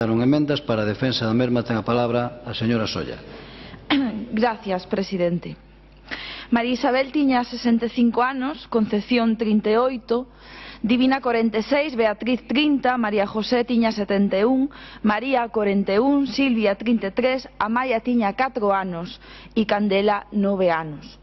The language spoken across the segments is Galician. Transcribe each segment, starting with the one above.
presentaron emendas. Para a defensa da mesma ten a palabra a señora Solla. Gracias, presidente. María Isabel tiña 65 anos, Concepción 38, Divina 46, Beatriz 30, María José tiña 71, María 41, Silvia 33, Amaya tiña 4 anos e Candela 9 anos.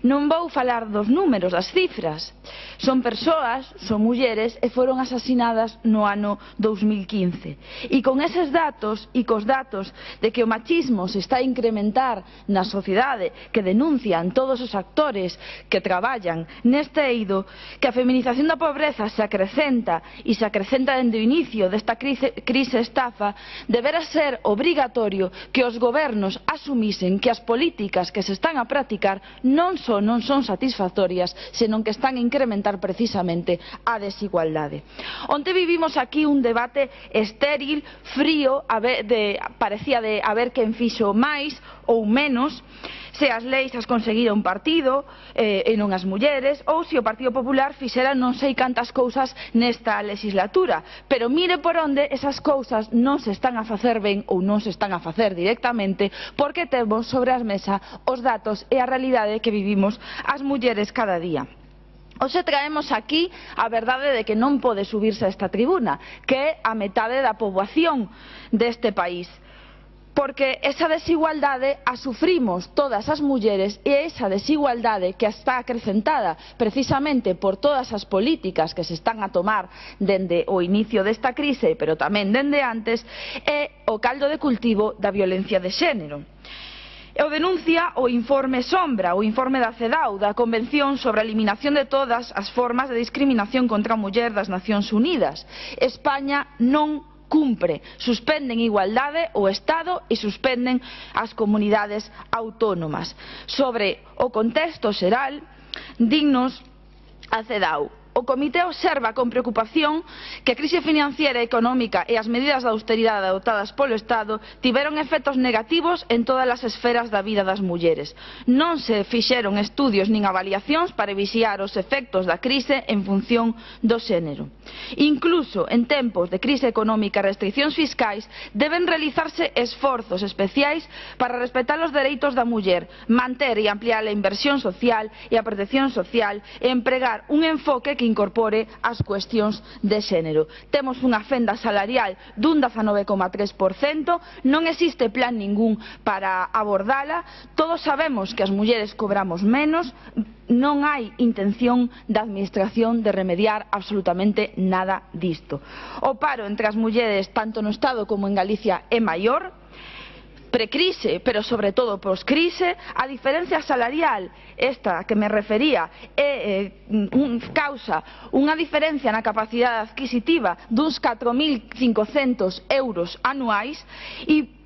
Non vou falar dos números, das cifras. Son persoas, son mulleres e foron asasinadas no ano 2015. E con eses datos e cos datos de que o machismo se está a incrementar na sociedade, que denuncian todos os actores que traballan neste eido, que a feminización da pobreza se acrecenta e se acrecenta dende o inicio desta crise estafa, debera ser obrigatorio que os gobernos asumisen que as políticas que se están a practicar non son satisfactorias, senón que están a incrementar precisamente a desigualdade. Onte vivimos aquí un debate estéril, frío, parecía de a ver quen fixo máis ou menos, se as leis as conseguira un partido e non as mulleres, ou se o Partido Popular fixera non sei cantas cousas nesta legislatura. Pero mire por onde esas cousas non se están a facer ben ou non se están a facer directamente, porque temos sobre a mesa os datos e a realidade que vivimos as mulleres cada día. Hoxe traemos aquí a verdade de que non pode subirse a esta tribuna, que é a metade da poboación deste país. Porque esa desigualdade a sufrimos todas as mulleres e esa desigualdade que está acrecentada precisamente por todas as políticas que se están a tomar dende o inicio desta crise, pero tamén dende antes, é o caldo de cultivo da violencia de xénero. O denuncia o informe Sombra, o informe da CEDAW, da Convención sobre a Eliminación de Todas as Formas de Discriminación contra a Muller das Nacións Unidas. España non cumpre, suspenden igualdade o Estado e suspenden as comunidades autónomas. Sobre o contexto xeral, dignos a CEDAW. O Comité observa con preocupación que a crise financiera e económica e as medidas de austeridade adoptadas polo Estado tiveron efectos negativos en todas as esferas da vida das mulleres. Non se fixeron estudios nin avaliacións para vixiar os efectos da crise en función do xénero. Incluso en tempos de crise económica e restriccións fiscais deben realizarse esforzos especiais para respetar os dereitos da muller, manter e ampliar a inversión social e a protección social e empregar un enfoque que incorpore as cuestións de xénero. Temos unha fenda salarial dun 19,3%, non existe plan ningún para abordala, todos sabemos que as mulleres cobramos menos, non hai intención da Administración de remediar absolutamente nada disto. O paro entre as mulleres, tanto no Estado como en Galicia, é maior, precrise, pero sobre todo poscrise. A diferencia salarial, esta que me refería, causa unha diferencia na capacidade adquisitiva duns 4.500 euros anuais e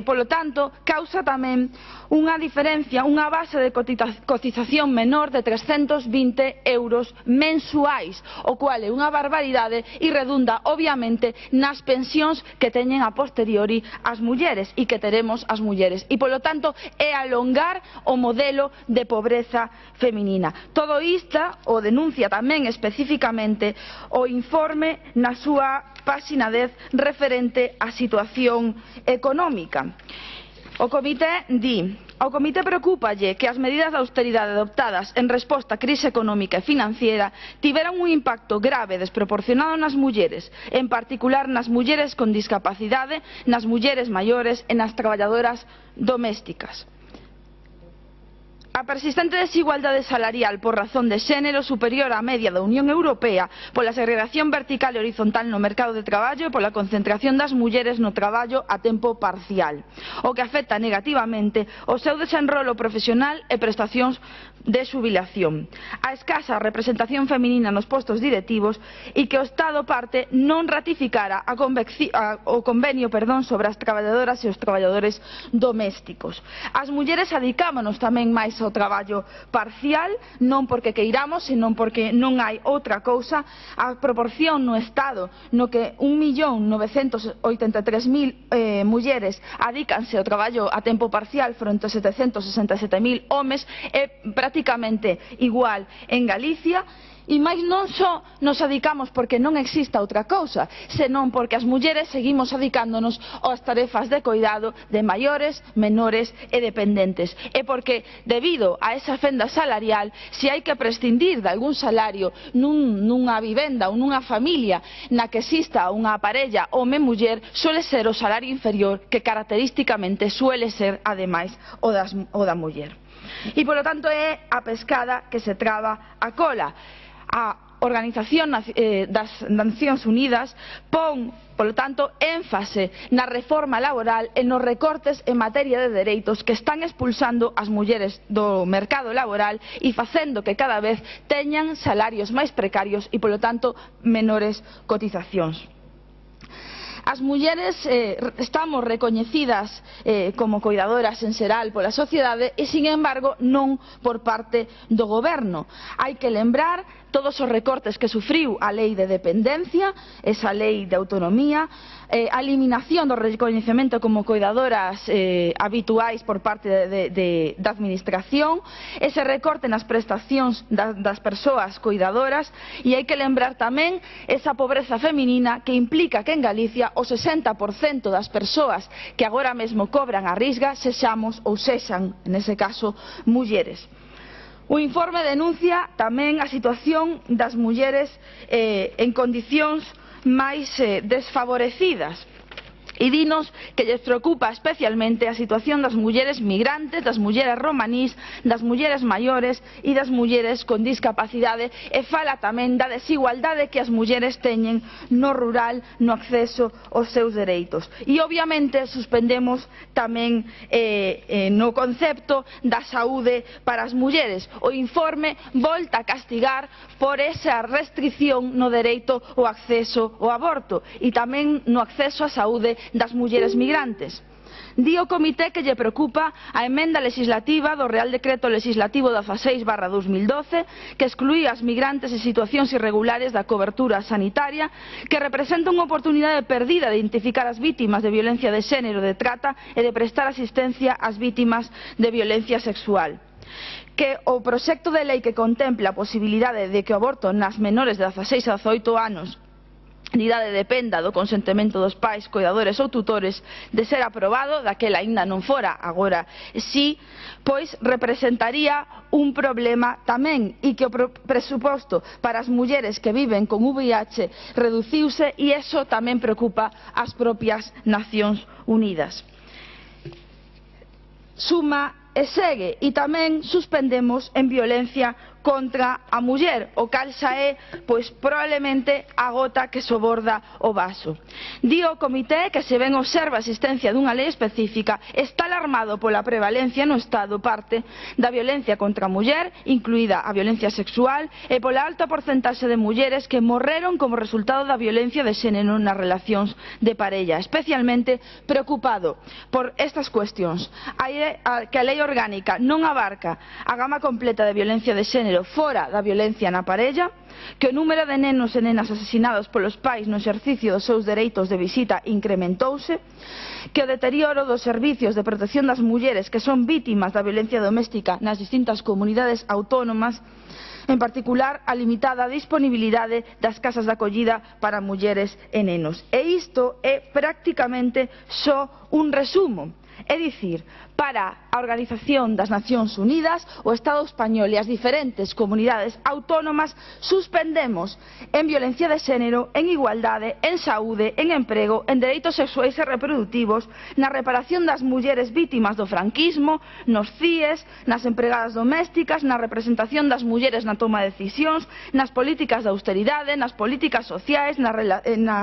polo tanto, causa tamén unha diferencia, unha base de cotización menor de 320 euros mensuais, o cual é unha barbaridade e redunda, obviamente, nas pensións que teñen a posteriori as mulleres e que teremos as mulleres. E, polo tanto, é alongar o modelo de pobreza feminina. Todo isto o denuncia tamén especificamente o informe na súa páxina 10 referente á situación económica. O Comité di: ao Comité preocúpalle que as medidas de austeridade adoptadas en resposta á crise económica e financiera tiveron un impacto grave e desproporcionado nas mulleres, en particular nas mulleres con discapacidade, nas mulleres maiores e nas traballadoras domésticas. A persistente desigualdade salarial por razón de xénero superior á media da Unión Europea, pola segregación vertical e horizontal no mercado de traballo e pola concentración das mulleres no traballo a tempo parcial, o que afecta negativamente o seu desenrolo profesional e prestacións de xubilación, a escasa representación feminina nos postos directivos e que o Estado parte non ratificara o convenio sobre as traballadoras e os traballadores domésticos. As mulleres adicámonos tamén máis ao traballo parcial, non porque queiramos, senón porque non hai outra cousa. A proporción no Estado no que 1.983.000 mulleres adícanse ao traballo a tempo parcial fronte a 767.000 homes é prácticamente igual en Galicia E máis non só nos adicamos porque non exista outra cousa, senón porque as mulleres seguimos adicándonos ás tarefas de coidado de maiores, menores e dependentes. E porque, debido a esa fenda salarial, se hai que prescindir de algún salario nunha vivenda ou nunha familia na que exista unha parella home-muller, suele ser o salario inferior, que característicamente suele ser, ademais, o da muller. E, polo tanto, é a pescada que se traba a cola. A Organización das Nacións Unidas pon, polo tanto, énfase na reforma laboral e nos recortes en materia de dereitos que están expulsando as mulleres do mercado laboral e facendo que cada vez teñan salarios máis precarios e, polo tanto, menores cotizacións. As mulleres estamos recoñecidas como coidadoras en xeral pola sociedade e, sin embargo, non por parte do goberno. Hai que lembrar todos os recortes que sufriu a lei de dependencia, esa lei de autonomía, a eliminación do recoñecemento como coidadoras habituais por parte da administración, ese recorte nas prestacións das persoas coidadoras, e hai que lembrar tamén esa pobreza feminina que implica que en Galicia o 60% das persoas que agora mesmo cobran a risga sexamos ou sexan, nese caso, mulleres. O informe denuncia tamén a situación das mulleres en condicións máis desfavorecidas e dinos que lles preocupa especialmente a situación das mulleres migrantes, das mulleres romanís, das mulleres maiores e das mulleres con discapacidade, e fala tamén da desigualdade que as mulleres teñen no rural no acceso aos seus dereitos. E obviamente suspendemos tamén no concepto da saúde para as mulleres. O informe volta a castigar por esa restricción no dereito ao acceso ao aborto e tamén no acceso á saúde das mulleres migrantes. Di o comité que lle preocupa a emenda legislativa do Real Decreto Legislativo 16/2012 que excluía as migrantes en situacións irregulares da cobertura sanitaria, que representa unha oportunidade perdida de identificar as vítimas de violencia de xénero, de trata e de prestar asistencia ás vítimas de violencia sexual. Que o proxecto de lei que contempla a posibilidade de que o aborto nas menores de 16 a 18 anos de idade dependa do consentimento dos pais, coidadores ou tutores, de ser aprobado, daquela aínda non fora, agora sí, pois representaría un problema tamén, e que o presuposto para as mulleres que viven con VIH reduciuse, e iso tamén preocupa as propias Nacións Unidas. Suma e segue, e tamén suspendemos en violencia contra a muller, o cal xa é, pois, probablemente a gota que soborda o vaso. Di o comité que, se ben observa a existencia dunha lei específica, está alarmado pola prevalencia no Estado parte da violencia contra a muller, incluída a violencia sexual, e pola alta porcentaxe de mulleres que morreron como resultado da violencia de xénero nas relacións de parella. Especialmente preocupado por estas cuestións, que a lei orgánica non abarca a gama completa de violencia de xénero fora da violencia na parella, que o número de nenos e nenas asesinados polos pais no exercicio dos seus dereitos de visita incrementouse, que o deterioro dos servicios de protección das mulleres que son vítimas da violencia doméstica nas distintas comunidades autónomas, en particular a limitada disponibilidade das casas de acollida para mulleres e nenos. E isto é prácticamente só un resumo. É dicir, para a Organización das Nacións Unidas, o Estado español e as diferentes comunidades autónomas suspendemos en violencia de xénero, en igualdade, en saúde, en emprego, en dereitos sexuais e reproductivos, na reparación das mulleres vítimas do franquismo, nos CIES, nas empregadas domésticas, na representación das mulleres na toma de decisións, nas políticas de austeridade, nas políticas sociais, nas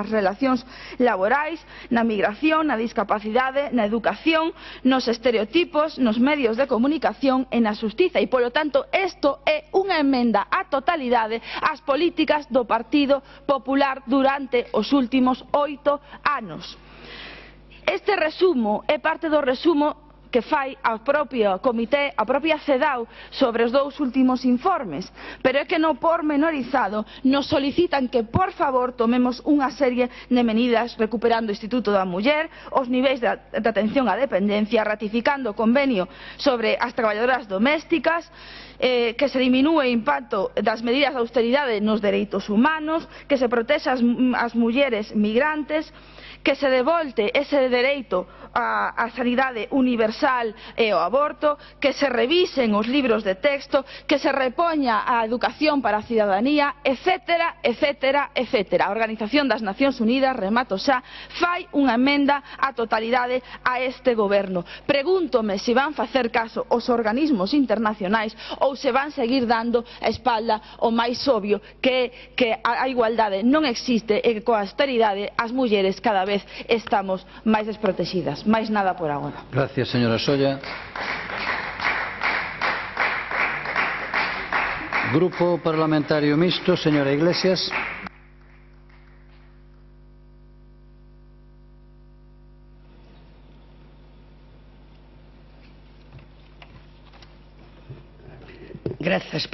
relacións laborais, na migración, na discapacidade, na educación, nos estereotipos, nos medios de comunicación e na xustiza. E, polo tanto, isto é unha emenda á totalidade ás políticas do Partido Popular durante os últimos 8 anos. Este resumo é parte do resumo que fai a propia Comité, a propia CEDAW sobre os dous últimos informes, pero é que no pormenorizado nos solicitan que por favor tomemos unha serie de medidas recuperando o Instituto da Muller, os niveis de atención á dependencia, ratificando o convenio sobre as traballadoras domésticas, que se diminúe o impacto das medidas de austeridade nos dereitos humanos, que se protexa as mulleres migrantes, que se devolte ese dereito á sanidade universal e ao aborto, que se revisen os libros de texto, que se repoña a educación para a cidadanía, etcétera, etcétera, etcétera. A Organización das Nacións Unidas, remato xa, fai unha emenda á totalidade a este goberno. Pregúntome se van facer caso os organismos internacionais ou se van seguir dando a espalda ao máis obvio, que a igualdade non existe e que coa austeridade as mulleres cada vez estamos máis desprotegidas. Máis nada por agora. Gracias, señora Solla. Grupo Parlamentario Mixto, señora Iglesias. Gracias,